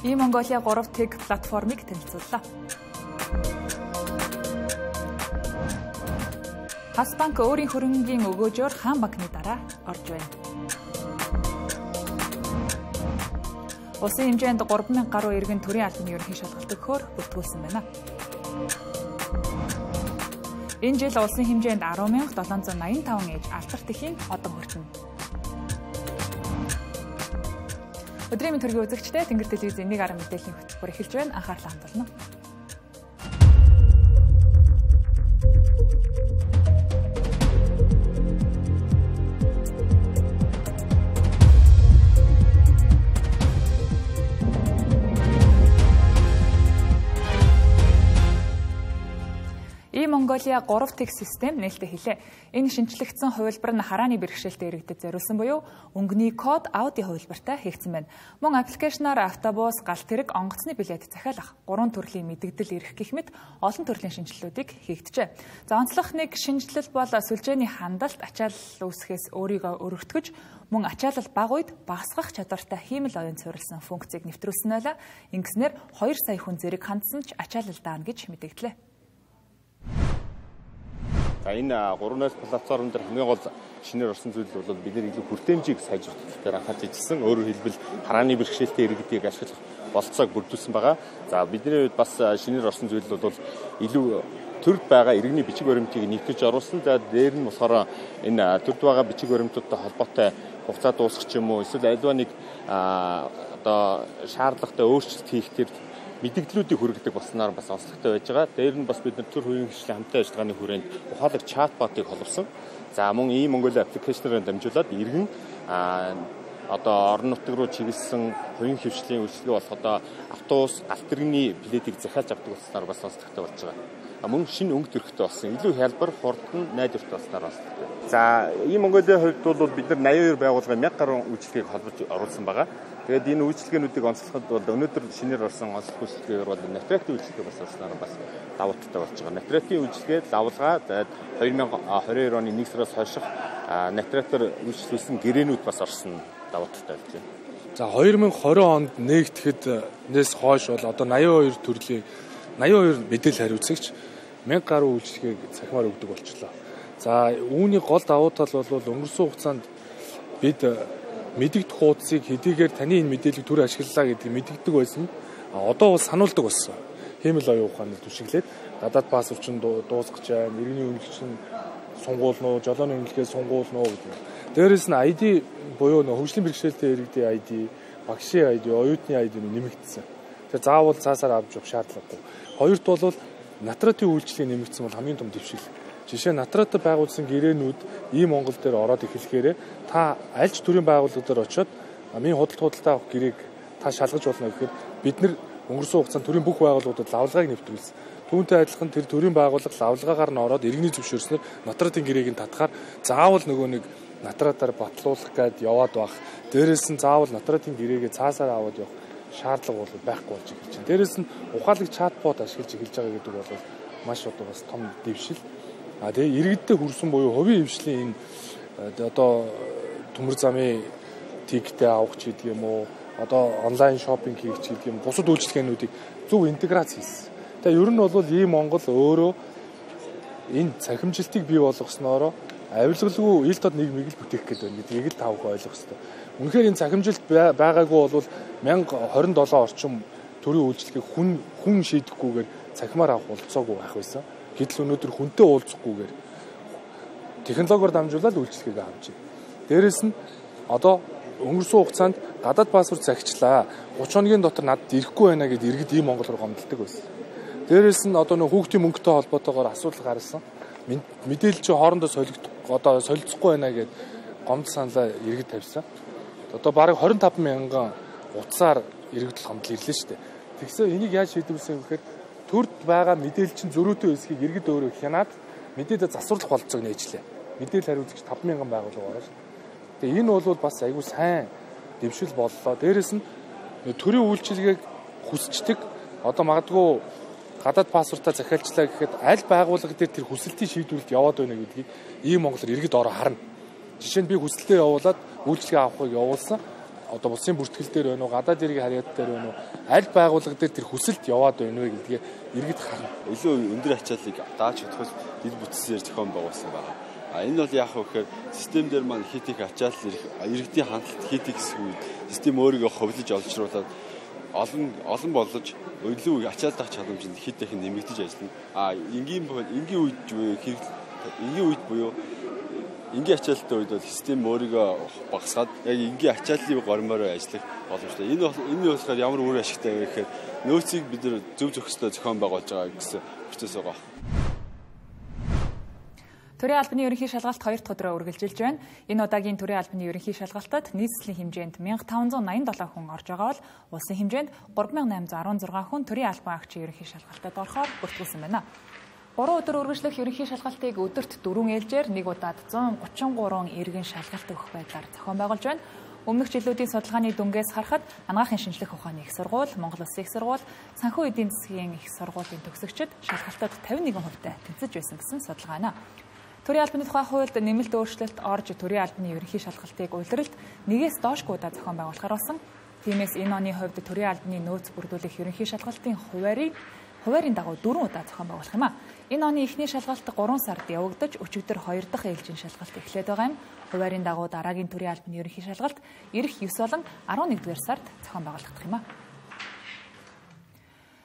E-Mongolia 3 Tech платформыг танилцууллаа. Хасбанк өөрийн хөрөнгийн өгөөжөөр хаан банкны дараа орж байна. Улсын хэмжээнд 3000 гаруй иргэн төрийн албаны ерөнхий шалгалт өгөхөөр бүртгүүлсэн байна. Энэ жил улсын хэмжээнд 10,785 ээж алдарт эхийн одон хүртэнэ. Өдрийн мэнд төргийн үзэгчдээ Тэнгэр телевизийн 1 мэдээллийн хөтөлбөр эхэлж байна. Анхаарлаа хандуулна. E-Mongolia 3 Tech систем нээлттэй хэлээ. Энэ шинжлэгдсэн хувилбар нь харааны бэрхшээлтэй иргэдэд зориулсан буюу өнгөний код аудио хувилбартай хийгдсэн байна. Мөн аппликейшнаар автобус, галт тэрэг, онгоцны билет захиалах 3 төрлийн мэдэгдэл ирэх гэх мэт олон төрлийн шинжилгэүүдийг хийгджээ. За онцлог нэг шинжилэл бол сүлжээний хандалт ачаалал үүсгэхээс өөрийгөө өргөтгөж мөн ачаалал бага үед багасгах чадвартай хиймэл оюун суурилсан функцийг нэвтрүүлсэн байлаа. Ингэснээр 2 сая хүн зэрэг хандсан ч ачаалал даана гэж мэдэгдлээ. За энэ 3-аас платформ дээр хамгийн гол шинээр орсон зүйл бол бид нэр илүү хүртээмжийг сайжруулах дээр анхаарч ижилсэн. Өөрөөр хэлбэл харааны бэрхшээлтэй иргэдийг ашиглах болцоог бүрдүүлсэн байгаа. За бидний хувьд бас шинээр орсон зүйл бол илүү төрд байгаа иргэний бичиг баримтыг нэгтгэж оруулсан. За дээр нь болохоор энэ төрд байгаа бичиг баримтуудтай холбоотой хугацаа дуусах ч юм уу эсвэл альва нэг одоо шаардлагатай өөрчлөлт хийх төр мэдээллүүдийг хүргэдэг болсноор бас онцлогтой байж байгаа. Дээр нь бас бид нар төр хувийн хөгжлийн хамтын ажиллагааны хүрээнд ухаалаг чатботыг холбосон. За мөн E-Mongolia аппликейшнээр дамжуулаад иргэн одоо орон нутаг руу чиглэсэн хувийн хөгжлийн үйлчилгээ болох одоо автобус, галт тэрэгний билетийг захиалж авдаг болсноор бас онцлогтой болж байгаа. Мөн шинэ өнгө төрхтэй болсон. Илүү хялбар, хурдан, найдвартай болсноор онцлогтой. За E-Mongolia хувьд бол бид нар 82 байгууллагын 1000 гаруй үйлчилгээг холбож оруулсан байгаа. Тэгээд энэ үйлчилгээнүүдийг онцлоход бол өнөөдөр шинээр орсон онцлог үйлчилгээгээр бол Натратын үйлчилгээ бас орсноор бас давуу талтай болж байгаа. Натратын үйлчилгээд лавлгаа 2022 оны 1 сараас хойших Натратаар үйлчлүүлсэн гэрээнүүд бас орсон давуу талтай болж байна. За 2020 онд нэгтгэхэд хойш бол одоо 82 төрлийн 82 мэдээлэл хариуцагч 1000 гаруй үйлчилгээг цахимаар өгдөг болчихлоо. За үүний гол давуу тал бол өнгөрсөн хугацаанд бид мэдэгдэх хуудсыг хэдийгээр таны энэ мэдээллийг түр ашиглалаа гэдгийг мэдэгддэг байсан. Одоо бол сануулдаг болсон. Хиймэл оюун ухааны түшиглээд гадаад паспорт чинь дуусгаж байна. Иргэний үнэлгээний сунгуулнуу, жолооны үнэлгээ сунгуулнуу гэдэг. Дээрээс нь ID буюу хөгжлийн бэрхшээлтэй иргэдийн ID, багшийн ID, оюутны ID нэмэгдсэн. Тэгэхээр заавал цаасаар авч явах шаардлагагүй. Хоёрт бол Натратын үйлчлэгийг нэмэгдсэн бол хамгийн том дэвшил. Жишээ нь Натратад байгуулсан гэрээнүүд E-Монгол дээр ороод эхлэхээр та аль ч төрлийн байгууллага дээр очиод миний худалдаа авах гэрээг та шалгаж болно гэхээр бид нар өнгөрсөн хугацаанд төрийн бүх байгууллагуудад лавлгааг нэвтрүүлсэн. Түүнтэй адилхан тэр төрийн байгууллага лавлгаагаар нь ороод иргэний зөвшөөрснөөр Натратын гэрээг нь татхаар заавал нөгөө нэг Натратаар батлуулах гээд яваад байх. Дээрээс нь заавал Натратын гэрээгээ цаасаар аваад явах шаардлага бол байхгүй болж эхэлж байна. Дээрээс нь ухаалаг чатбот ашиглаж эхэлж байгаа гэдэг бол маш одоо бас том дэвшил. Тэгээ иргэдтэй хүрсэн буюу хувийн хвшлийн энэ одоо төмөр замын тиктэй авах ч гэдэг юм уу одоо онлайн шопинг хийх ч гэдэг юм бусад үйлчилгээнүүдийг зөв интеграц хийсэн. Тэгээ ер нь бол E-Монгол өөрөө энэ цахимжилтыг бий болгосноор авилгалгүй ил тод нийгмийг л бүтээх гэдэг байна гэдгийг л тавх ойлгох хэрэгтэй. Үнэхээр энэ цахимжилт байгаагүй бол 1027 орчим төрийн үйлчилгээг хүн шийдэхгүйгээр цахимаар авах болцоогүй байх байсан. Гэтэл өнөөдөр хүнтэй уулзахгүйгээр технологиор дамжуулаад үйлчилгээг авч байна. Дээрээс нь одоо өнгөрсөн хугацаанд гадаад паспорт захичлаа 30 хоногийн дотор надад ирэхгүй байна гэдээ иргэд E-Монгол руу гомдолдог байсан. Дээрээс нь одоо нэг хүүхдийн мөнгөтэй холбоотойгоор асуудал гарсан. Мэдээлэл чи хоорондоо солилцохгүй байна гэдээ гомдол саналаа иргэд тавьсан. Одоо бараг 25,000 утсаар иргэдэл гомдол ирлээ шүү дээ. Тэгсэн энийг яаж шийдвэрсэн гэхээр төрд байгаа мэдээлэл чинь зөрүүтэй хэсгийг иргэд өөрөө хянаад мэдээлэл засварлах болцоог нээжлээ. Мэдээлэл хариуцагч 5,000 байгууллага байгаа шүү. Тэгээ энэ бол бас айгүй сайн дэвшил боллоо. Дээрээс нь төрийн үйлчилгээг хүсчдэг одоо магадгүй гадаад паспортаа захиалчлаа гэхэд аль байгууллага дээр тэр хүсэлтийн шийдвэрлэлд яваад байна гэдгийг E-Монголоор иргэд ороо харна. Жишээ нь би хүсэлтээ явуулаад үйлчилгээ авахыг явуулсан. одоо улсын бүртгэл дээр байна уу, гадаад иргэн харьяат дээр байна уу, аль байгууллага дээр тэр хүсэлт яваад байна вэ гэдгийг иргэд харна. Илүү өндөр ачааллыг дааж чадхаас дэд бүтцээр зохион байгуулсан байна. Энэ бол яах вэ гэхээр систем дээр маань хит их ачаалал иргэдийн хандлт хит их гэсэн үед систем өөрийгөө ховлож олжруулаад олон болж илүү ачааллах чадамжинд хит их нэмэгдэж ажиллана. Энгийн үед буюу энгийн ачаалттай үед бол систем өөрийгөө багасгаад яг энгийн ачааллын гормоор ажиллах боломжтой. Энэ болохоор ямар үр ашигтай вэ гэхээр нөөцийг бид нэр зөв зөвхөстэй зохион байгуулж байгаа гэсэн процесс байгаа. Төрийн албаны ерөнхий шалгалт 2 дахь өдрөө үргэлжилж байна. Энэ удаагийн төрийн албаны ерөнхий шалгалтад нийслэлийн хэмжээнд 1587 хүн орж байгаа бол улсын хэмжээнд 3816 хүн төрийн албан агчийн ерөнхий шалгалтад орохоор бүртгүүлсэн байна. 3 өдөр үргэлжлэх ерөнхий шалгалтыг өдөрт 4 ээлжээр нэг удаад 133 иргэн шалгалт өгөх байдлаар зохион байгуулж байна. Өмнөх жилүүдийн судалгааны дүнгээс харахад анагаахын шинжлэх ухааны их сургууль, Монгол Улсын их сургууль, санхүү эдийн засгийн их сургуулийн төгсөгчид шалгалтад 51% тэнцэж байсан гэсэн судалгаа байна. Төрийн албаны тухай хуульд нэмэлт өөрчлөлт орж төрийн албаны ерөнхий шалгалтыг улиралд нэгээс доошгүй удаа зохион байгуулахаар болсон. Тиймээс энэ оны хувьд төрийн албаны нөөц бүрдүүлэх ерөнхий шалгалтын хуваарийн дагуу 4 удаа зохион байгуулах юм а. Энэ оны эхний шалгалт 3 сард явагдаж өчигдөр 2 дахь ээлжийн шалгалт эхлээд байгаа юм. Хуваарийн дагуу дараагийн төрийн албаны ерөнхий шалгалт ирэх 9 болон 11-р сард зохион байгуулагдах юм а.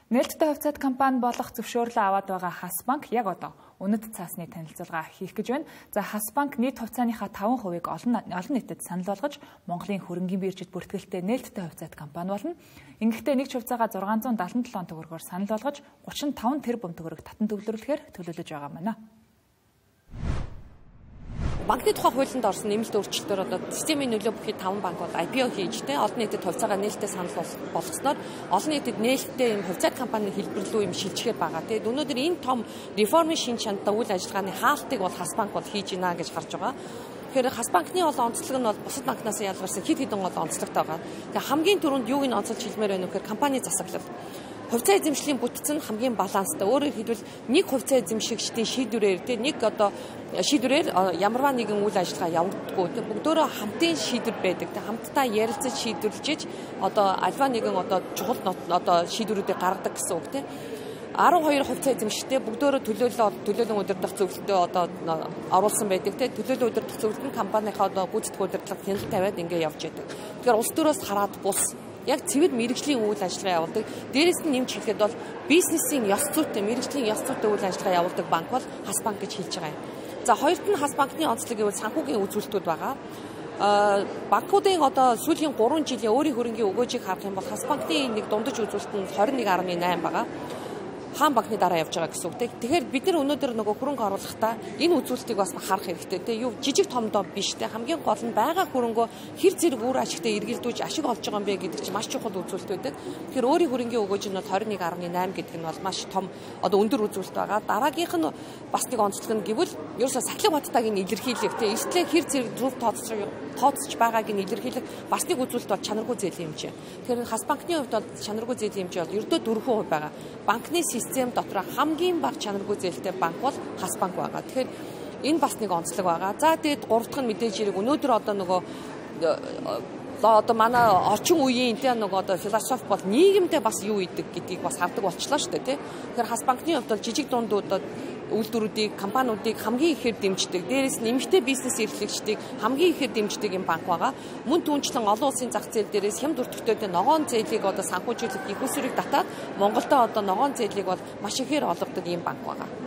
Нээлттэй хувьцаат компани болох зөвшөөрлөө аваад байгаа Хасбанк яг одоо үнэт цаасны танилцуулга хийх гэж байна. За Хасбанк нийт хувьцааныхаа 5%-ийг олон нийтэд санал болгож Монголын хөрөнгийн биржид бүртгэлтэй нээлттэй хувьцаат компани болно. Ингэхдээ нэг хувьцаагаа 677 төгрөгөөр санал болгож 35 тэрбум төгрөг татан төвлөрүүлэхээр төлөвлөж байгаа юм байна. Банкны тухай хуулинд орсон нэмэлт өөрчлөлтөөр одоо системийн нөлөө бүхий 5 банк бол IPO хийж олон нийтэд хувьцаагаа нээлттэй санал болгосноор олон нийтэд нээлттэй юм хувьцаат компани хэлбэрлүү юм шилжихэд байгаа. Тэгээд өнөөдөр энэ том реформын шин чанартай үйл ажиллагааны хаалтыг бол Хасбанк бол хийж гинэ гэж харж байгаа. Тэгэхээр Хасбанкны бол онцлог нь бол бусад банкнаас ялгарсан хэд хэдэн гол онцлогтой байгаа. Тэгэхээр хамгийн түрүүнд юуг нь онцолж хэлмээр байна вэ гэхээр компани засаглал. Хувьцаа эзэмшлийн бүтцэн хамгийн баланстай. Өөрөөр хэлбэл нэг хувьцаа эзэмшигчдийн шийдвэрээр нэг одоо шийдвэрээр ямарваа нэгэн үйл ажиллагаа явагддаггүй. Бүгдөө хамтын шийдвэр байдаг. Хамтдаа ярилцаж шийдвэрлэж одоо альва нэгэн одоо чухал одоо шийдвэрүүдийг гаргадаг гэсэн үг тийм. 12 хувьцаа эзэмшигчтэй бүгдөө төлөөлөн удирдах зөвлөлтөд одоо оруулсан байдаг тийм. Төлөөлөн удирдах зөвлөлт нь компанийнхаа одоо гүйцэтгэх удирдлага хяналт тавиад ингэ явж байдаг. Тэгэхээр улс төрөөс хараад бус яг цэвэр мэргэжлийн үйл ажиллагаа явуулдаг. Дээрээс нь нэмж хэлэхэд бол бизнесийн ёс зүйтэй, мэргэжлийн ёс зүйтэй үйл ажиллагаа явуулдаг банк бол Хасбанк гэж хэлж байгаа юм. За хоёрт нь Хасбанкны онцлог гэвэл санхүүгийн үзүүлэлтүүд байгаа. Банкуудын одоо сүүлийн 3 жилийн өөрийн хөрөнгийн өгөөжийг харах юм бол Хасбанкны нэг дундаж үзүүлэлт нь 21.8 байгаа. Хаан банкны дараа явж байгаа гэсэн үг. Тэгэхээр бид нар өнөөдөр нөгөө хөрөнгө оруулахдаа энэ үзүүлэлтийг бас харах хэрэгтэй. Тэ юу жижиг томдоо биш. Тэ хамгийн гол нь байгаа хөрөнгөө хэр зэрэг үр ашигтай эргэлдүүлж ашиг олж байгаа юм бэ гэдэг чинь маш чухал үзүүлэлт байдаг. Тэгэхээр өөрийн хөрөнгийн өгөөж нь 21.8 гэдэг нь бол маш том одоо өндөр үзүүлэлт байгаа. Дараагийнх нь бас нэг онцлог нь гэвэл ерөөсөө сахилга баттайг нь илэрхийлэх. Тэ эрсдлээ хэр зэрэг зөв тооцож байгааг нь илэрхийлэх бас нэг үзүүлэлт бол чанаргүй зээлийн хэмжээ. Тэгэхээр Хасбанкны хувьд бол чанаргүй зээлийн хэмжээ бол ердөө 4% байгаа. Банкны систем дотор хамгийн бага чанаргүй зээлтэй банк бол Хасбанк байгаа. Тэгэхээр энэ бас нэг онцлог байгаа. За тэгээд 3 дахь нь мэдээж хэрэг өнөөдөр одоо нөгөө одоо манай орчин үеийн тэ нөгөө одоо философи бол нийгэмдээ бас юу идэг гэдгийг бас хардаг болчлоо шүү дээ тий. Тэгэхээр Хасбанкны хувьд бол жижиг дундуудад үйлдвэрүүдийг, компаниудыг хамгийн ихээр дэмждэг. Дээрээс нь эмэгтэй бизнес эрхлэгчдийг хамгийн ихээр дэмждэг юм банк байгаа. Мөн түүнчлэн олон улсын зах зээл дээрээс хямд өртөгтэй ногоон зээлийг одоо санхүүжүүлэх их усрыг татаад Монголдо одоо ногоон зээлийг бол маш ихээр олгодог юм банк байгаа.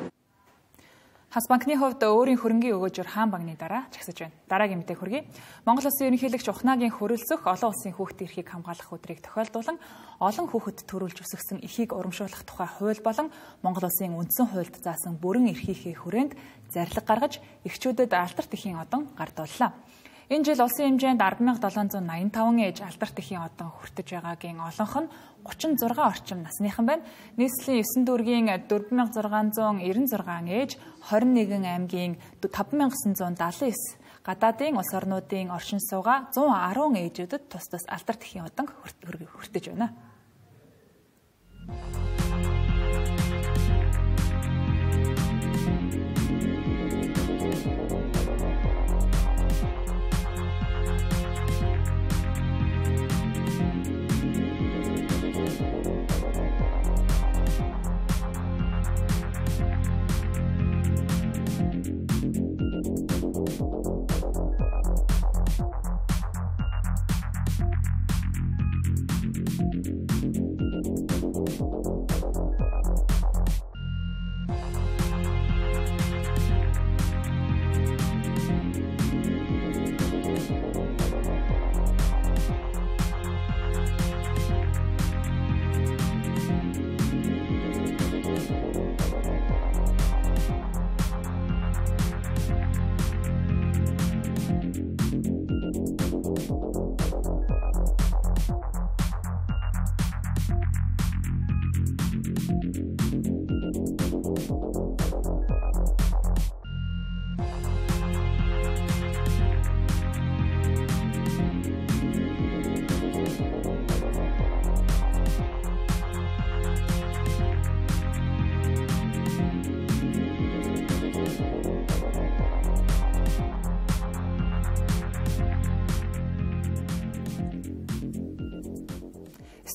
Хасбанкны хувьд өөрийн хөрөнгийн өгөөжөөр хаан банкны дараа чагсаж байна. Дараагийн мэдээ хүргэе. Монгол Улсын ерөнхийлөгч Ухнагийн хөрөлцөх олон улсын хүүхдийн эрхийг хамгаалах өдрийг тохиолдуулан олон хүүхэд төрүүлж өсгсөн эрхийг урамшуулах тухай хууль болон Монгол Улсын үндсэн хуульд заасан бүрэн эрхийнхээ хүрээнд зарлиг гаргаж эрхчүүдэд алдарт эхийн одон гардууллаа. Энэ жил улсын хэмжээнд 10,785 ээж алдарт эхийн одон хүртэж байгаагийн олонх нь 36 орчим насныхан байна. Нийслэлийн 9 дүүргийн 4,696 ээж, 21 аймгийн 5,979 гадаадын улс орнуудын оршин суугаа 110 ээжүүдэд тус тус алдарт эхийн одон хүртэж байна.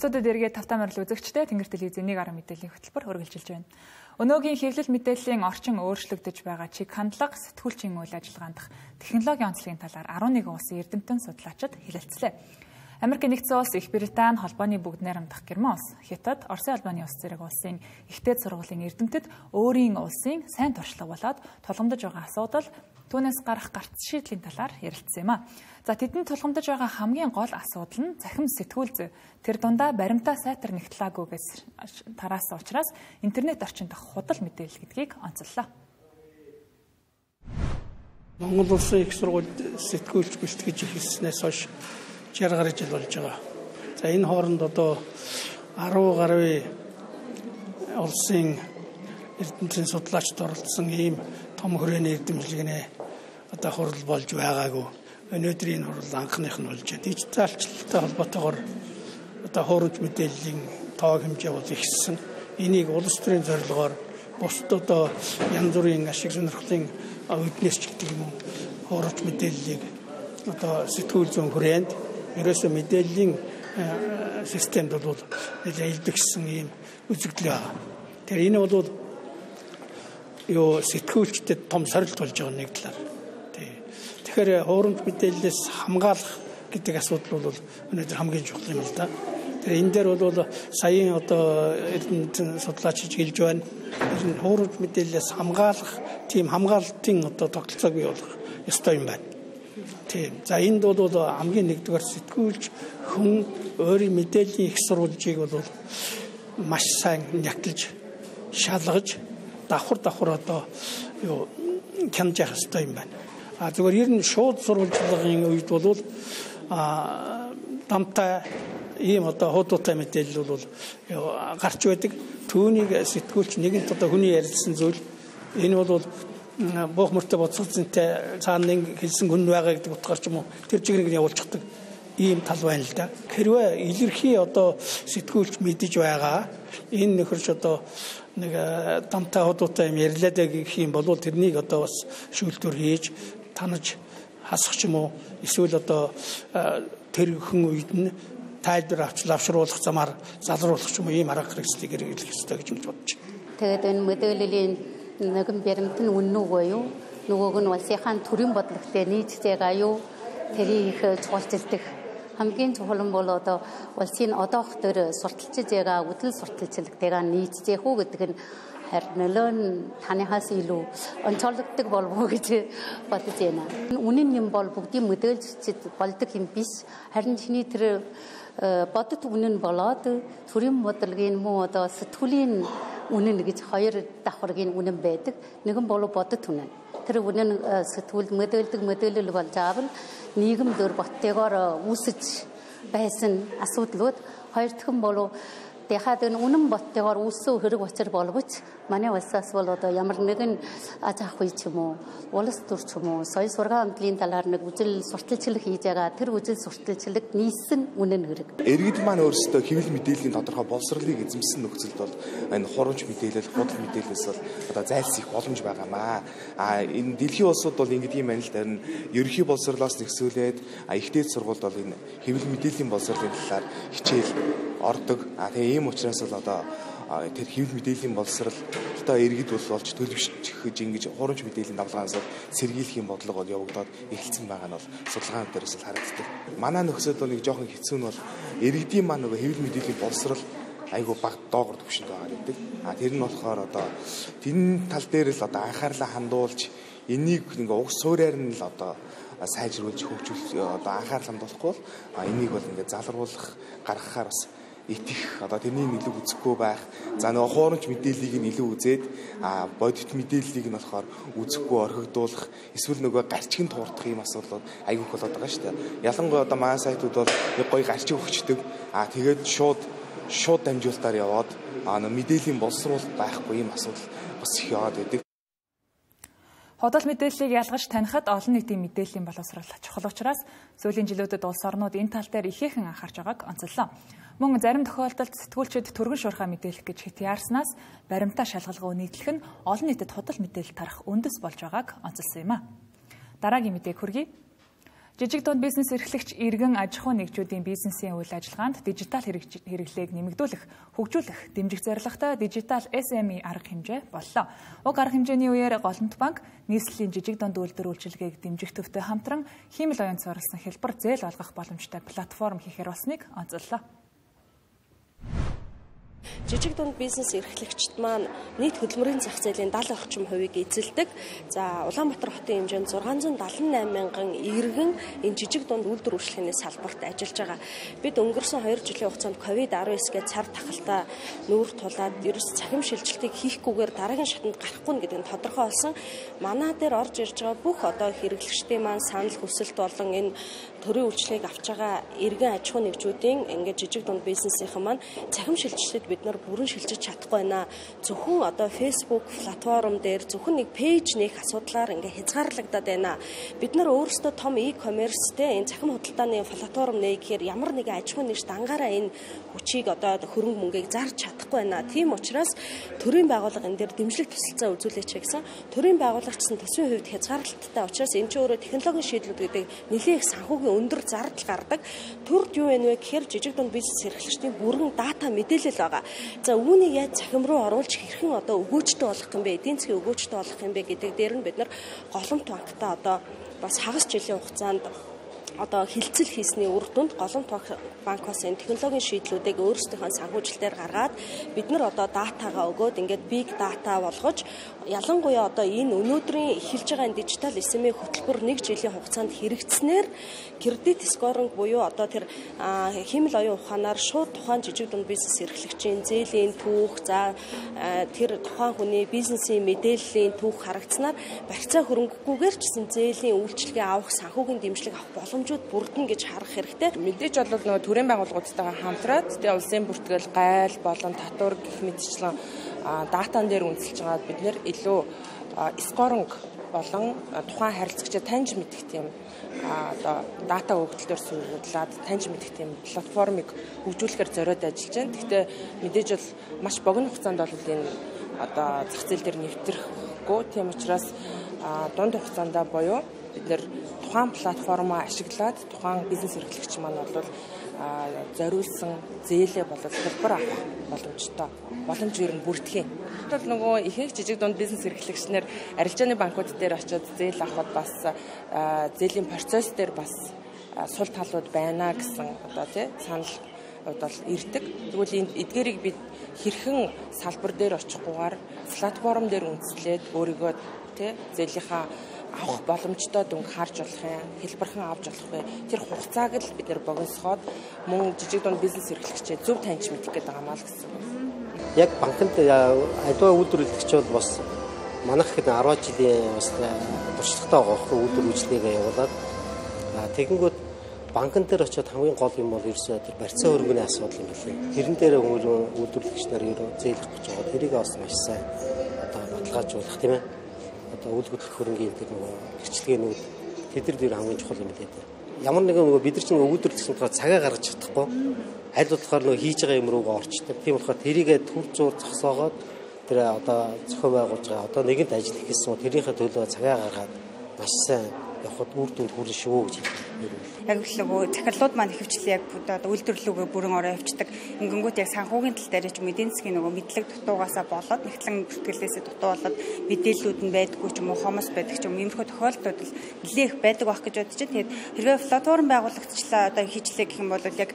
Студид эргээд тавтамарл үзэгчтэй Тэнгэр телевизийн 1 арга мэдээллийн хөтөлбөр хүргэлжилж байна. Өнөөгийн хэвлэл мэдээллийн орчин өөрчлөгдөж байгаа чиг хандлага, сэтгүүлчийн үйл ажиллагаанд технологийн онцлогийн талаар 11 улсын эрдэмтэн судлаачид хэлэлцлээ. Америкийн нэгдсэн улс, Их Британи, холбооны бүгд найрамдах Герман улс, Хятад, Оросын албаны улс зэрэг улсын ихтэй сургуулийн эрдэмтэд өөрийн улсын сайн туршлага болоод тулгамдж байгаа асуудал түүнээс гарах гарц шийдлийн талаар ярилцсан юм а. За тэдэнд тулгамдж байгаа хамгийн гол асуудал нь цахим сэтгүүл зүй. Тэр дундаа баримтаа сайтар нэгтлаагүйгээс тараасан учраас интернет орчин дах худал мэдээлэл гэдгийг онцоллоо. Монгол улсын их сургуульд сэтгүүлч бэлтгэж эхэлснээс хойш 60 гаруй жил болж байгаа. За энэ хооронд одоо 10 гаруй улсын эрдэмтэн судлаачид оролцсон ийм том хүрээний эрдэмтлэгнээ одоо хурал болж байгаагүй. Өнөөдрийн хурал анхных нь болж байна. Дижиталчлалтай холбоотойгоор одоо хуурамч мэдээллийн тоог хэмжээ бол ихссэн. Энийг улс төрийн зорилгоор бусд одоо янз бүрийн ашиг сонирхлын үднэс ч гэдэг юм уу хуурамч мэдээллийг одоо сэтгүүл зүйн хүрээнд ерөөсөө мэдээллийн системд бол илэрхийлсэн ийм үзэгдэл байна. Тэр энэ бол сэтгүүлчдэд том сорилт болж байгаа нэг талаар. Тэгэхээр хуурамч мэдээллээс хамгаалах гэдэг асуудал бол өнөөдөр хамгийн чухал юм л да. Тэр энэ дээр бол саяын одоо эрдэмтэн судлаач хэлж байна. Энэ хуурамч мэдээллээс хамгаалах тийм хамгаалтын одоо тогтолцоог бий болгох ёстой юм байна. Тийм. За энд бол хамгийн нэгдүгээр сэтгүүлч хүн өөрийн мэдээллийн их сурвалжийг бол маш сайн нягтлж, шалгаж, давхар одоо хянаж явах ёстой юм байна. Зүгээр ер нь шууд сурвалжлагын үед бол дамтай ийм одоо хуудуутай мэдээлэл бол гарч байдаг. Түүнийг сэтгүүлч нэгэнт одоо хүний ярилцсан зүйл энэ бол буух мөртөө боцгоцонтой цаана нэг хэлсэн хүн байгаа гэдэг утгаар ч юм уу тэр чиглэлийг явуулчихдаг ийм тал байна л да. Хэрвээ илэрхий одоо сэтгүүлч мэдэж байгаа энэ нөхөрч одоо нэг дамтай хуудуутай юм ярьлаа гэх юм бол тэрнийг одоо бас шүүлтүр хийж танаж хасах ч юм уу эсвэл одоо тэр хүн үед нь тайлбар авчруулах замаар залруулах ч юм уу ийм арга хэрэгслийг хэрэглэх ёстой гэж бодож байна. Тэгээд энэ мэдээллийн нэгэн баримт нь үнэн үгүй юу? Нөгөөг нь улсынхаа төрийн бодлоготой нийцдэг аюу тэрийг чухалчилдаг. Хамгийн чухал нь бол одоо улсын одоох төр сурталчилж байгаа үдэл сурталчилгатайгаа нийцдэг үү гэдэг нь харин нөлөө нь таныхаас илүү онцлогддог болов уу гэж бодож байна. Үнэн юм бол бүгдийн мэдээлжид болдог юм биш. Харин чиний тэр бодит үнэн болоод төрийн бодлогын муу одоо сэтгүүлийн үнэн гэж хоёр давхаргийн үнэн байдаг. Нэгэн бол бодит үнэн. Тэр үнэн сэтгүүлд мэдээлэл болж аавал нийгэм дөр боттойгоор үүсэж байсан асуудлууд хоёр дахь нь бол дахиад энэ үнэн боттойгоор үүссэн хэрэг учир боловч манай улсаас бол одоо ямар нэгэн аж ахуй ч юм уу улс төр ч юм уу соёл сургаан амтлын талаар нэг үжил сурталчилга хийж байгаа тэр үжил сурталчилгад нийссэн үнэн хэрэг. Иргэд маань өөрсдөө хэвлэл мэдээллийн тодорхой боловсролыг эзэмсэн нөхцөлд бол энэ хурамч мэдээлэл, худал мэдээлэлээс бол одоо зайлсхийх боломж байгаамаа. Энэ дэлхийн улсууд бол ингэдэг юм байна л да. Ерөнхий боловсролоос нэгсүүлээд ихтэй сургуульд бол энэ хэвлэл мэдээллийн боловсролын талаар хичээл ордог. Тэгээ ийм учраас бол одоо тэр хэвлэл мэдээллийн боловсрол одоо иргэд болж төлөвшөж ингэж хурамч мэдээллийн давлгаанаас сэргийлэх юм бодлого бол явагдаад эхэлсэн байгаа нь бол судалгаан дээрээс л харагддаг. Манай нөхцөлд бол нэг жоохон хэцүү нь бол иргэдийн маань нөгөө хэвлэл мэдээллийн боловсрол айгүй баг доогор төвшөнд байгаа гэдэг. Тэр нь болохоор одоо тэр тал дээр л одоо анхаарлаа хандуулж энийг ингээ уг суурьаар нь л одоо сайжруулж хөгжүүлэх одоо анхаарал хандуулахгүй бол энийг бол ингээ залруулах гаргахаар бас итэх одоо тэрний илүү үзэхгүй байх. За нөгөө хуурамч мэдээллийг нь илүү үзээд бодит мэдээллийг нь болохоор үзэхгүй орхигдуулах эсвэл нөгөө гарчиг нь туурдах юм асуудал айгүйх болоод байгаа шүү дээ. Ялангуяа одоо манай сайтууд бол нэг гоё гарчиг өгчдөг. Тэгээд шууд шууд дамжуулалтаар яваад мэдээллийн боловсруулалт байхгүй юм асуудал бас их яваад байдаг. Худал мэдээллийг ялгаж танихад олон нийтийн мэдээллийн боловсрол чухал учраас сүүлийн жилүүдэд улс орнууд энэ тал дээр ихээхэн анхаарч байгааг онцоллоо. Мөн зарим тохиолдолд сэтгүүлчид түргэн шуурхай мэдээлэх гэж хит яарснаас баримтаа шалгалгуу нийтлэх нь олон нийтэд худал мэдээлэл тарах үндэс болж байгааг онцолсон юм а. Дараагийн мэдээг хүргэе. Жижиг дунд бизнес эрхлэгч иргэн аж ахуй нэгжүүдийн бизнесийн үйл ажиллагаанд дижитал хэрэглээг нэмэгдүүлэх, хөгжүүлэх, дэмжих зорилготой дижитал SME арга хэмжээ боллоо. Уг арга хэмжээний үеэр Голомт банк нийслэлийн жижиг дунд үйлдвэр үйлчилгээг дэмжих төвтэй хамтран хиймэл оюун суурилсан хэлбэр зээл олгох боломжтой платформ хийхээр болсныг онцоллоо. Жижиг дунд бизнес эрхлэгчид маань нийт хөдөлмөрийн зах зээлийн 70 орчим хувийг эзэлдэг. За Улаанбаатар хотын хэмжээнд 678 мянган иргэн энэ жижиг дунд үйлдвэр үйлчлэгээний салбарт ажиллаж байгаа. Бид өнгөрсөн 2 жилийн хугацаанд COVID-19-гээ цар тахалтай нүүр тулаад ерөөс цахим шилжилтийг хийхгүйгээр дараагийн шатанд гарахгүй гэдэг нь тодорхой болсон. Манай дээр орж ирж байгаа бүх одоо хэрэглэгчдийн маань санал хүсэлт болон энэ төрийн үйлчлэгийг авч байгаа иргэн аж ахуй нэгжүүдийн ингээд жижиг дунд бизнесийнхэн маань цахим шилжилтэд бид нар бүрэн шилжиж чадахгүй байна. Зөвхөн одоо Facebook платформ дээр зөвхөн нэг пэйж нээх асуудлаар ингээ хязгаарлагдаад байна. Бид нар өөрсдөө том e-commerce-тэй энэ цахим худалдааны платформ нээхээр ямар нэгэн аж ахуй нэгж дангаараа энэ хүчийг одоо хөрөнгө мөнгийг зарж чадахгүй байна. Тийм учраас төрийн байгууллага энэ дээр дэмжлэг тусалцаа үзүүлээч гэсэн. Төрийн байгууллагчсан төсвийн хувьд хязгаарлалттай учраас энэ ч өөрөө технологийн шийдлүүд гэдэг нэлээд их санхүүгийн өндөр зардал гардаг. Төрд юу вэ гэхээр жижиг дунд бизнес эрхлэгчдийн бүрэн дата мэдээлэл байгаа. За үүнийг яаж цахим руу оруулж хэрхэн одоо өгөөжтэй болох юм бэ? Эдийн засгийн өгөөжтэй болох юм бэ гэдэг дээр нь бид нар Голомт банктай одоо бас хагас жилийн хугацаанд одоо хилцэл хийсний үр дүнд Голомт банкоос энэ технологийн шийдлүүдийг өөрсдийнхөө санхүүжилтээр гаргаад бид нар одоо датагаа өгөөд ингээд big data болгож ялангуяа одоо энэ өнөөдрийн эхэлж байгаа энэ дижитал SME хөтөлбөр 1 жилийн хугацаанд хэрэгжснээр кредит скоринг буюу одоо тэр хиймэл оюун ухаанаар шууд тухайн жижиг дунд бизнес эрхлэгчийн зээлийн түүх за тэр тухайн хүний бизнесийн мэдээллийн түүх харагдсанаар барьцаа хөрөнгөхгүйгээр ч гэсэн зээлийн үйлчлэгээ авах санхүүгийн дэмжлэг авах боломжууд бүрдэнэ гэж харах хэрэгтэй. Мэдээж бол нөгөө төрийн байгууллагуудтайгаа хамтраад тэгээ улсын бүртгэл гайл болон татвар гэх мэтчлэн датан дээр үндэслэж байгаад бид нэр илүү скоринг болон тухайн харилцагчаа таньж мэдэх тийм одоо дата өгөгдлөөр суулгаад таньж мэдэх тийм платформыг хөгжүүлэхээр зориод ажиллаж байна. Гэхдээ мэдээж бол маш богино хугацаанд бол энэ одоо зах зээл дээр нэвтрэхгүй. Тийм учраас дунд хугацаанд буюу бид нэр тухайн платформоо ашиглаад тухайн бизнес эрхлэгч маань бол зориулсан зээлээ болоод хэлбэр авах боломжтой. Боломж ер нь бүрдэх юм. Тэгвэл нөгөө ихэнх жижиг дунд бизнес эрхлэгчнэр арилжааны банкуд дээр очиод зээл авахд бас зээлийн процесс дээр бас сул талууд байна гэсэн одоо тий санал бол ирдэг. Тэгвэл эдгээрийг бид хэрхэн салбар дээр очихгүйгээр платформ дээр үндэслээд өөрийгөө тий зээлийнхаа авах боломжтой дүнг харж болох юм, хэлбэрхэн авч болох вэ? Тэр хугацааг л бид нэр богиносгоод мөн жижиг дунд бизнес эрхлэгчээ зөв таньж мэдэх гэдэг юм аа л гэсэн. Яг банкнд аливаа үйлдвэр эрхлэгч бол бас манайх хэд 10 жилийн бас туршлагатай байгаа үйлдвэр үйлчлэгээ явуулаад тэгэнгүүт банкн дээр очиод хамгийн гол юм бол ерөөсөө тэр барьцаа хөрөнгөний асуудал юм билээ. Тэрэн дээр үйлдвэрлэгч нар ерөө зээлэх гэж байгаа. Тэрийг бас маш сайн одоо баталгаажуулах тийм ээ. Одоо үйл хөдлөх хөрөнгөний тэр нөгөө хэрэгчлэгээнүүд тэдэр дээр хамгийн чухал юм билээ. Ямар нэгэн нөгөө бид нар чинь үйлдвэрлэгчийн тухай цагаа гаргаж чадахгүй. Аль болохоор нөгөө хийж байгаа юм руугаа орчдөг. Тийм болохоор тэрийгэ төр зур зогсоогоод тэр одоо зохион байгуулж байгаа одоо нэгэнт ажил хийх гэсэн тэрийнхээ төлөө цагаа гаргаад маш сайн явахд үр дүнд хүрнэ шүү гэж хэлсэн. Яг л нөгөө захирлууд маань ихэвчлэн яг одоо үйлдвэрлэлүүгээ бүрэн ороо явцдаг. Ингэнгүүт яг санхүүгийн тал дээр ч эдийн засгийн нөгөө мэдлэг дутуугаасаа болоод нэгтлэн бүртгэлээсээ дутуу болоод мэдээллүүд нь байдаггүй ч юм уу хомос байдаг ч юм иймэрхүү тохиолдлууд л нэлээх байдаг байх гэж бодож байна. Тэгээд хэрвээ платформ байгуулагчлаа одоо хийчлээ гэх юм бол яг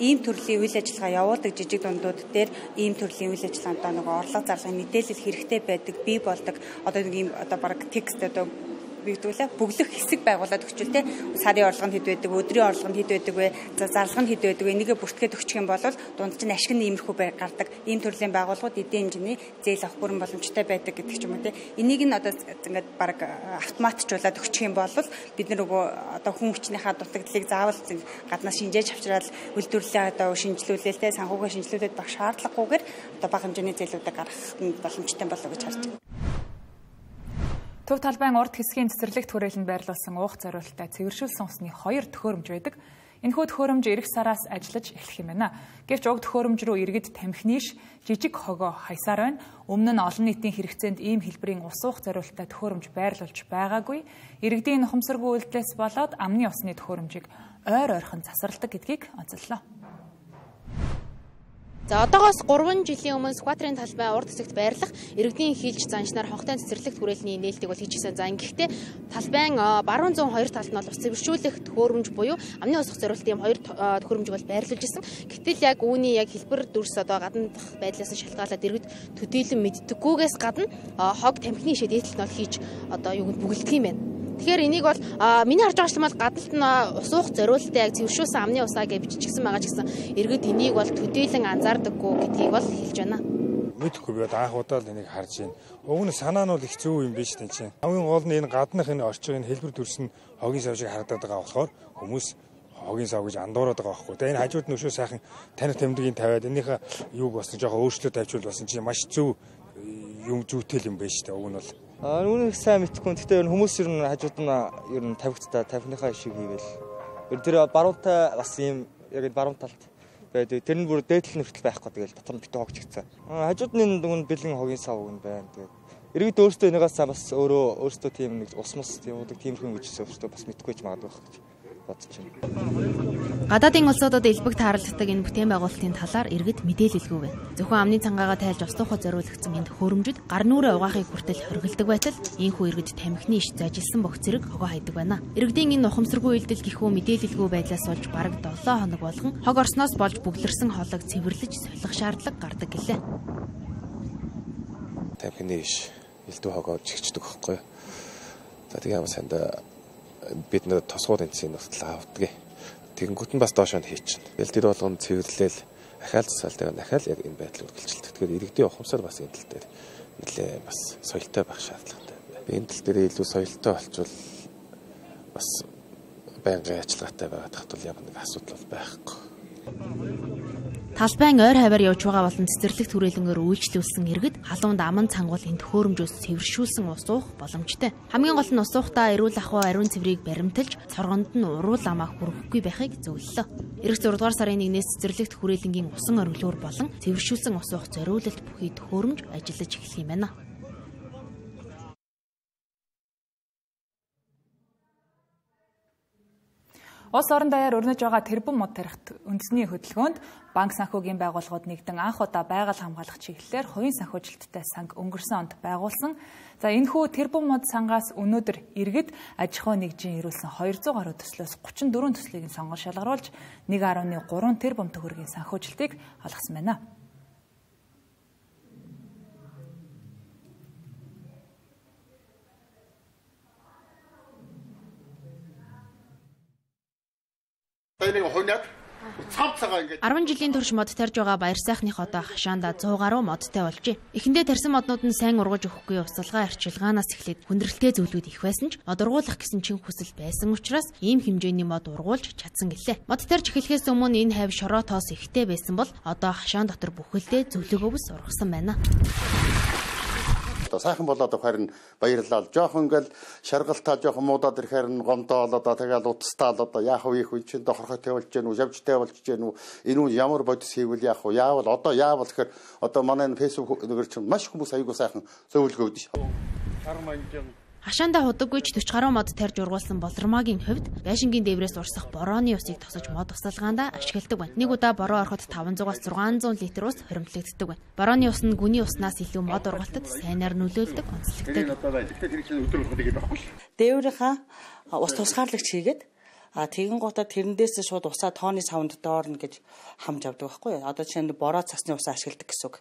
ийм төрлийн үйл ажиллагаа явуулдаг жижиг дундууд дээр ийм төрлийн үйл ажиллагаанд одоо нөгөө орлого зарлах мэдээлэл хэрэгтэй байдаг, бий болдог. Одоо нэг ийм одоо баг текст одоо бигдүүлээ бүглэх хэсэг байгуулад өгчүүл те сарын орлого нь хэд байдаг, өдрийн орлого нь хэд байдаг вэ, зарлага нь хэд байдаг вэ, энийгээ бүртгээд өгчих юм бол дунд чинь ашиг нь иймэрхүү гардаг. Ийм төрлийн байгууллагууд эдийн хэмжээний зээл авах бүрэн боломжтой байдаг гэдэг ч юм уу те. Энийг нь одоо ингээд баг автоматжуулаад өгчих юм бол бид нар нөгөө одоо хүн хүчнийхээ дутагдлыг заавал гаднаас шинжээж авчраад үйлдвэрлэлээ одоо шинжилүүлээ те санхүүгээ шинжилүүлээд баг шаардлагагүйгээр одоо бага хэмжээний зээлүүдийг гаргах боломжтой болов гэж харж байна. Төв талбайн урд хэсгийн цэцэрлэгт хүрээлэнд байрлуулсан уух зориулалттай цэвэршүүлсэн усны 2 төхөөрөмж байдаг. Энэхүү төхөөрөмж эх сараас ажиллаж эхлэх юм байна. Гэвч уг төхөөрөмж рүү иргэд тамхи нийш жижиг хогоо хаясаар байна. Өмнө нь олон нийтийн хэрэгцээнд ийм хэлбэрийн ус уух зориулалттай төхөөрөмж байрлуулж байгаагүй. Иргэдийн ухамсаргүй үйлдэлээс болоод амны усны төхөөрөмжийг ойр ойрхон засварладаг гэдгийг онцоллоо. За одоогоос 3 жилийн өмнө Скватрын талбай урд хэсэгт байрлах иргэдийн хилж заншнаар хогтой цэцэрлэгт хүрээлний нээлтийг бол хийжсэн. За ингэхдээ талбайн баруун зүүн хоёр талд нь бол ус цэвэршүүлэх төхөөрөмж буюу амны ус зориулалтын 2 төхөөрөмжийг бол байрлуулж ирсэн. Гэтэл яг үүний яг хэлбэр дүрс одоо гадна байдлаас шалтгаалаад иргэд төдийлөн мэддэггүйгээс гадна хог тамхины шид дээдлэлт нь бол хийж одоо юунд бүгэлдэх юм байна. Тэгэхээр энийг бол миний харж байгаа юм бол гадналт нь ус уух зориулалтыг яг цэвэршүүлсэн амны усаа гэж бичигдсэн байгаа ч гэсэн иргэд энийг бол төдийлөн анзаардаггүй гэдгийг бол хэлж байна. Мэдхгүй би анх удаа л энийг харж байна. Уг нь санаа нь бол их зөв юм биш тийм чинь. Хамгийн гол нь энэ гаднах энэ орчин энэ хэлбэр дүрс нь хогийн сав шиг харагдаад байгаа болохоор хүмүүс хогийн сав гэж андуураад байгаа байхгүй. Тэгээ энэ хажууд нь өшөө сайхан танир тэмдгийн тавиад энийхээ юуг болсон жоохон өөрчлөлт тавьчвал болсон чинь маш зөв юм зүйтэл юм байна шүү дээ. Уг нь бол Үүнийг сайн мэдхгүй. Гэхдээ хүмүүс ер нь хажууд нь ер нь тавигдтаа тавихныхаа шиг хийгээл. Тэр баруунтай бас ийм яг баруун талд байдаг. Тэр нь бүр дээдлэл нүртэл байхгүй. Тэгэл дотор нь битүү хогчигдсан. Хажууд нь дүн бэлэн хогийн сав юм байна. Тэгээд иргэд өөрсдөө энийгээс бас өөрсдөө тийм нэг ус мус тийм үүдэг тиймэрхүү гэж өөрсдөө бас мэдгүй ч магадгүй байх гэж бодож байна. Гадаадын улсуудад элбэг тааралддаг энэ бүтээн байгуулалтын талаар иргэд мэдээлэлгүй байна. Зөвхөн амны цангаагаа тайлж ус туухад зориулагдсан энэ төхөөрөмжөд гар нүрээ угаахыг хүртэл хоригддаг байтал ийхүү иргэд тамхины иш зажилсан бох зэрэг хогоо хайдаг байна. Иргэдийн энэ ухамсаргүй үйлдэл гихүү мэдээлэлгүй байдлаас болж бараг 7 хоног болгон хог орсноос болж бүглэрсэн хоолойг цэвэрлэж солих шаардлага гардаг гэлээ. Тамхины иш элдв хогоо жигчдэг байхгүй. За тэгээ санд бид нэр тосгууд энэсийн нутал авдаг. Тэгэнгүүт нь бас доошоо хийчихнэ. Элдэд болгон цэвэрлээл ахаал засаалтайгаар дахиад яг энэ байдлыг үргэлжилдэг. Тэгэхээр иргэдийн ухамсар бас энэ тал дээр нэлээ бас соёлтой байх шаардлагатай байна. Энэ тал дээр илүү соёлтой болчвол бас байнгын ажиллагаатай байгаад хатвал ямар нэг асуудал бол байхгүй. Талбайн ойр хаваар явж байгаа болон цэцэрлэгт хүрээлэнгээр үйлчлүүлсэн иргэд халуунд аман цангуул энэ төхөөрөмжөөс цэвэршүүлсэн ус уух боломжтой. Хамгийн гол нь ус уухтаа эрүүл ахуй ариун цэврийг баримталж цоргонд нь уруул амаа хүрэхгүй байхыг зөвлөлөө. Ирэх 6 дугаар сарын 1-ээс цэцэрлэгт хүрээлэнгийн усан оргилуур болон цэвэршүүлсэн ус уух зориулалт бүхий төхөөрөмж ажиллаж эхлэх юм байна. Улс орон даяар өрнөж байгаа тэрбум мод тарихт үндэсний хөдөлгөөнд банк санхүүгийн байгууллагууд нэгдэн анх удаа байгаль хамгаалах чиглэлээр хувийн санхүүжилттэй санг өнгөрсөн онд байгуулсан. За энэхүү тэрбум мод сангаас өнөөдөр иргэд аж ахуй нэгжийн ирүүлсэн 200 гаруй төслөөс 34 төслийг сонгон шалгаруулж 1.3 тэрбум төгрөгийн санхүүжилтийг олгосон байна. Энэ 10 жилийн турш мод тарж байгаа баяр сайхных одоо хашаанда 100 гаруй модтой болжээ. Эхэндээ тарсан моднууд нь сайн ургаж өгөхгүй усалгаа арчилгаанаас эхлээд хүндрэлтэй зөвлөд их байсан ч мод ургуулах гэсэн чин хүсэл байсан учраас ийм хэмжээний мод ургуулж чадсан гэлээ. Мод тарж эхлэхээс өмнө энэ хавь шороо тоос ихтэй байсан бол одоо хашаан дотор бүхэлдээ зөвлөгөөс ургасан байна. Сайхан болоод харин баярлал. Жохон ингээл шаргалтаа жохон муудаад ирэхээр нь гомдоолоо тэгэл утастаал одоо яах вэ их чинь дохорхой тавилж гэнэ үү, явжтай болж гэнэ үү, энэ үү ямар бодис хийвэл яах вэ? Яавал одоо яавал гэхээр одоо манай фэйсбүүк нэгээр чинь маш хүмүүс аягүй сайхан зөвлөгөө өгдөө. Хашаанда худаггүйч 40 гаруй мод тарж ургуулсан болормагийн хувьд байшингийн дээврээс урсах борооны усыг тосож мод усалгаанда ашигладаг байна. Нэг удаа бороо ороход 500-аас 600 литр ус хоримтлагддаг байна. Борооны ус нь гүний уснаас илүү мод ургалтад сайнаар нөлөөлдөг, онцлогтой. Дээврийнхаа ус тусгаарлагч хийгээд тэгэн гутаа тэрнээс шууд усаа тооны савнд доорно гэж хамж авдаг байхгүй юу? Одоо чинь бороо цасны усаа ашигладаг гэсэн үг.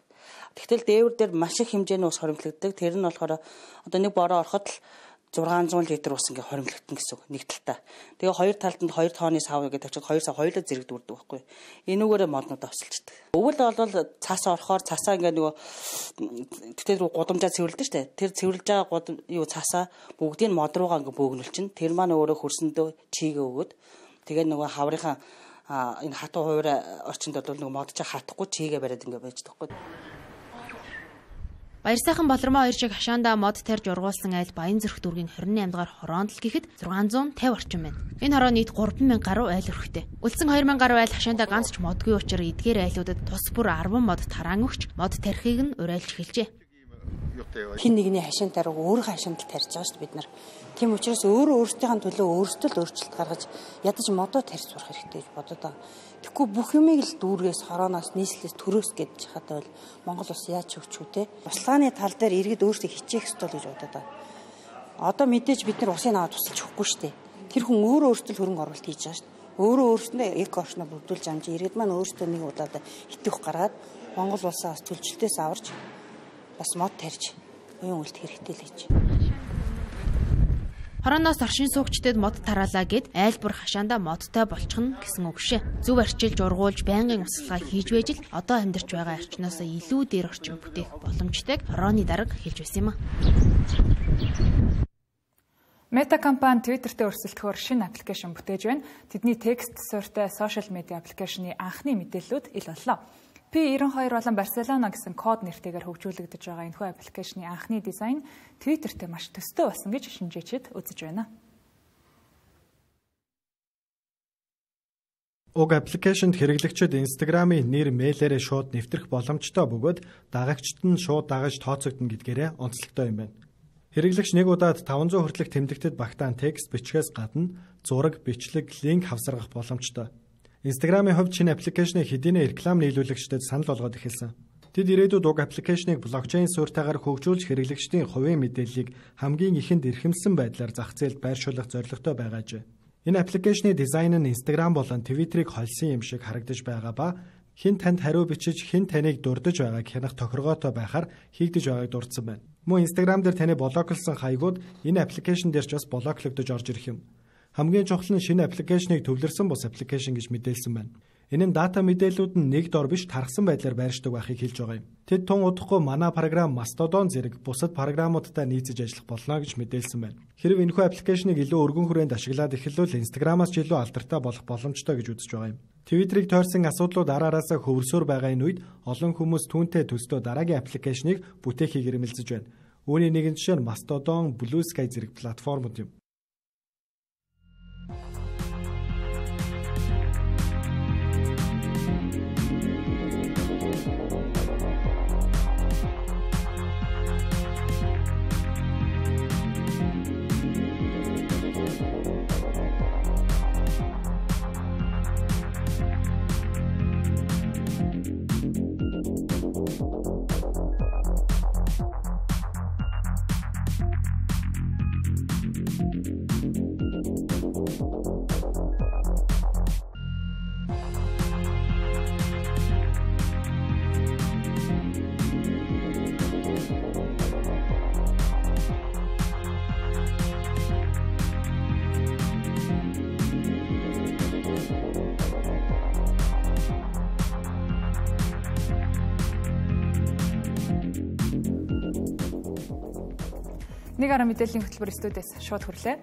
Тэгтэл дээвэр дээр маш их хэмжээний ус хоримтлагддаг. Тэр нь болохоор одоо нэг бороо ороход л 600 литр ус ингээ хоримлогдсон гэсэн үг нэг талтаа. Тэгээ хоёр талд нь 2 тонны сав гэдэг тавьчихад 2 сав хоёулаа зэрэг дүрдэг байхгүй. Энүүгээрээ моднууд авсалчдаг. Өвөл бол цаасаа орохоор цаасаа ингээ нөгөө тэр рүү гудамжаа цэвэрлдэг шүү дээ. Тэр цэвэрлж байгаа цаасаа бүгдийг мод руугаа ингээ бөөгнүүлчин. Тэр маань өөрөө хөрсөндөө чийгээ өгөөд тэгээ нөгөө хаврынхаа энэ хатуу хуваарь орчинд бол нөгөө модч хатахгүй чийгээ бариад ингээ байждаг байхгүй. Баяр сайхан болормоо 2 шиг хашаандаа мод тарьж ургуулсан айл Баянзүрх дүүргийн 28 дугаар хороонд л гэхэд 650 орчим байна. Энэ хороо нийт 3000 гаруй айл өрхтэй. Үлдсэн 2000 гаруй айл хашаандаа ганц ч модгүй учраас эдгээр айлуудад тус бүр 10 мод тараан өгч мод тарихыг нь уриалж эхэлжээ. Хин нэгний хашаан тариг өөрийнхөө хашаанд тарьж байгаа шүү дээ бид нар. Тийм учраас өөрсдийнхээ төлөө өөрсдөө л өөрчлөлт гаргаж ядаж модоо тарьж сурах хэрэгтэй гэж бодоод байгаа. Тэгэхгүй бүх юмыг л дүүргээс хорооноос нийслэлээс төрөөс гэж хадвал Монгол улс яаж өгч үү те. Услааны тал дээр иргэд өөрсдөө хичээх ёстой л гэж бодоод байгаа. Одоо мэдээж бид нар усын аваад тусалж өгөхгүй шүү дээ. Тэр хүн өөрөөсөө хөрөнгө оруулалт хийж байгаа шүү дээ. Өөрөөсөө эко орчноо бүрдүүлж амжиж иргэд маань өөрсдөө нэг удаад хитэх гаргаад Монгол улсаас төлчлөлтөөс аварч бас мод тарьж уян үлдэх хэрэгтэй л гэж. Хорооноос оршин суугчдад мод тараалаа гэд айлбар хашаандаа модтой болчихно гэсэн үг шээ. Зөв арчилж ургуулж байнгын услага хийж байж л одоо амьдарч байгаа орчноос илүү дээр орчин бүтээх боломжтойг хорооны дарга хэлж байсан юм а. Мета компани Twitter-т өрсөлдөхөөр шинэ аппликейшн бүтээж байна. Тэдний текст суурьтай сошиал медиа аппликейшны анхны мэдээллүүд ил боллоо. P92 болон Барселона гэсэн код нэртэйгээр хөгжүүлэгдэж байгаа энэхүү аппликейшны анхны дизайн Twitter-т маш төстэй болсон гэж шинжээчид үзэж байна. Уг аппликейшнд хэрэглэгчид Instagram-ийн нэр мэйлээрээ шууд нэвтрэх боломжтой бөгөөд дагагчид нь шууд дагаж тооцогдно гэдгээрээ онцлогтой юм байна. Хэрэглэгч нэг удаад 500 хүртэлх тэмдэгтэд багтаан текст бичгээс гадна зураг, бичлэг, линк хавсаргах боломжтой. Instagram-ийн хувьд шинэ аппликейшнийг хэдийнэ реклам нийлүүлэгчдэд санал болгоод эхэлсэн. Тэд ирээдүйд уг аппликейшнийг блокчейн суурьтайгаар хөгжүүлж хэрэглэгчдийн хувийн мэдээллийг хамгийн ихэнд эрхэмсэн байдлаар зах зээлд байршуулах зорилготой байгаажээ. Энэ аппликейшны дизайн нь Instagram болон Twitter-ыг холсон юм шиг харагдаж байгаа ба хэн танд хариу бичиж хэн таныг дурдж байгааг хянах тохиргоотой байхаар хийгдэж байгааг дурдсан байна. Мөн Instagram дээр таны блоклсон хаягууд энэ аппликейшн дээр ч бас блоклогдож орж ирэх юм. Хамгийн чухал нь шинэ аппликейшнийг төвлөрсөн бус аппликейшн гэж мэдээлсэн байна. Энэ нь дата мэдээлүүд нь нэг дор биш тархсан байдлаар байршдаг байхыг хэлж байгаа юм. Тэд тун удахгүй манай програм Mastodon зэрэг бусад програмуудтай нийцэж ажиллах болно гэж мэдээлсэн байна. Хэрв энэхүү аппликейшнийг илүү өргөн хүрээнд ашиглаад эхэлвэл Instagram-аас ч илүү алдартай болох боломжтой гэж үзэж байгаа юм. Twitter-ыг тойрсон асуудлууд араараасаа хөвөрсөөр байгаа энэ үед олон хүмүүс түүнтэй төстөө дараагийн аппликейшнийг бүтээхийг эрмэлзэж байна. Үүний нэгэн жишээ нь Mastodon, Blue Sky зэрэг платформуд юм. Нэг арга мэдээллийн хөтөлбөр студиэс шууд хүрлээ.